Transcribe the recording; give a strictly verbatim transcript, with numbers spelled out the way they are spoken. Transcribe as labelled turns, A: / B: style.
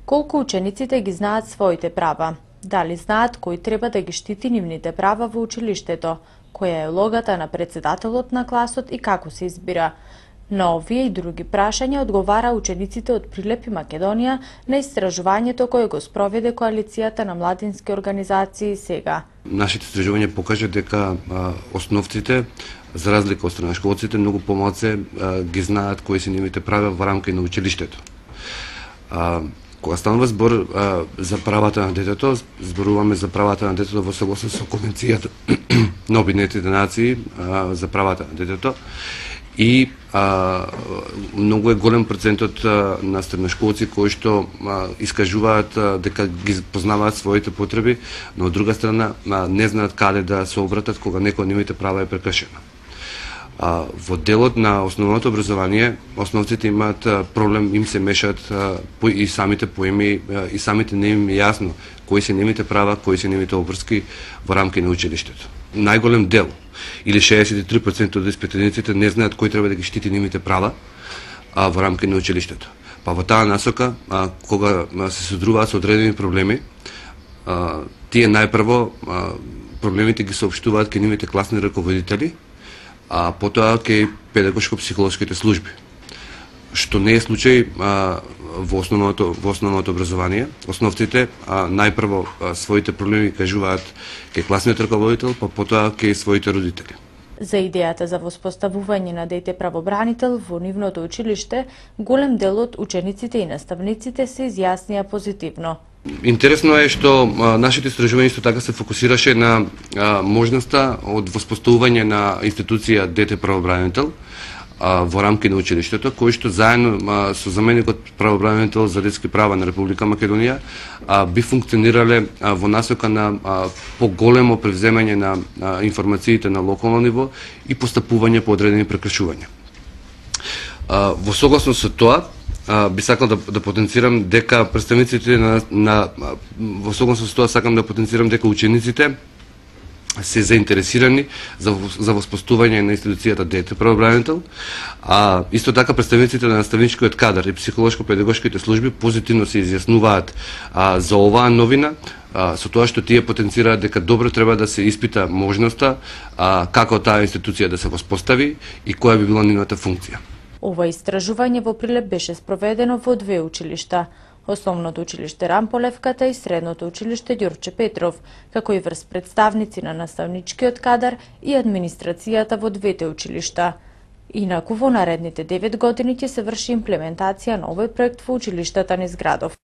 A: Колку учениците ги знаат своите права? Дали знаат кој треба да ги штити нивните права во училиштето? Која е улогата на председателот на класот и како се избира? На овие и други прашања одговара учениците од Прилеп и Македонија на истражувањето кое го спроведе коалицијата на младински организации сега.
B: Нашите истражувања покажа дека а, основците, за разлика од средношколците, многу помалце а, ги знаат кои се нивните права во рамки на училиштето. А, Кога станува збор а, за правата на детето, зборуваме за правата на детето во согласност со Конвенцијата на Обединетите нации а, за правата на детето. И а, многу е голем процентот а, на средношколци кои што а, искажуваат а, дека ги познаваат своите потреби, но од друга страна а, не знаат каде да се обратат кога некој од нивните права е прекршено. А, во делот на основното образование, основците имаат а, проблем, им се мешат а, по, и самите поеми, а, и самите не им е јасно кои се нивните права, кои се нивните обврски во рамки на училиштето. Најголем дел, или шеесет и три проценти од испитаниците не знаат кој треба да ги штити нивните права а, во рамки на училиштето. Па во таа насока, а, кога а, се содруваат со одредени проблеми, а, тие најпрво а, проблемите ги соопштуваат кај нивните класни раководители, а потоа кај педагошко-психолошките служби, што не е случај а, во основното во основното образование. Основците а, најпрво а, своите проблеми кажуваат кај класниот раководител, па потоа кај своите родители.
A: За идејата за воспоставување на дете правобранител во нивното училиште, голем дел од учениците и наставниците се изјаснија позитивно.
B: Интересно е што а, нашите истражувања исто така се фокусираше на а, можноста од воспоставување на институција дете правобранител а, во рамки на училиштето, кој што заедно а, со заменикот правобранител за детски права на Република Македонија а, би функционирале а, во насока на а, поголемо превземање на а, информациите на локално ниво и постапување по одредени прекршувања. А, во согласност со тоа, Uh, би сакал да, да потенцирам дека представниците на, на во согласност со тоа сакам да потенцирам дека учениците се заинтересирани за, за воспоставување на институцијата дете правобранител, а исто така представниците на наставничкиот кадар и психолошко-педагошките служби позитивно се изјаснуваат а, за оваа новина, а, со тоа што тие потенцираат дека добро треба да се испита можноста а, како таа институција да се воспостави и која би била нивната функција.
A: Ова истражување во Прилеп беше спроведено во две училишта, Основното училиште Рамполевката и Средното училиште Ѓорче Петров, како и врз представници на наставничкиот кадар и администрацијата во двете училишта. Инаку во наредните девет години ќе се врши имплементација на овој проект во училиштата низ градов.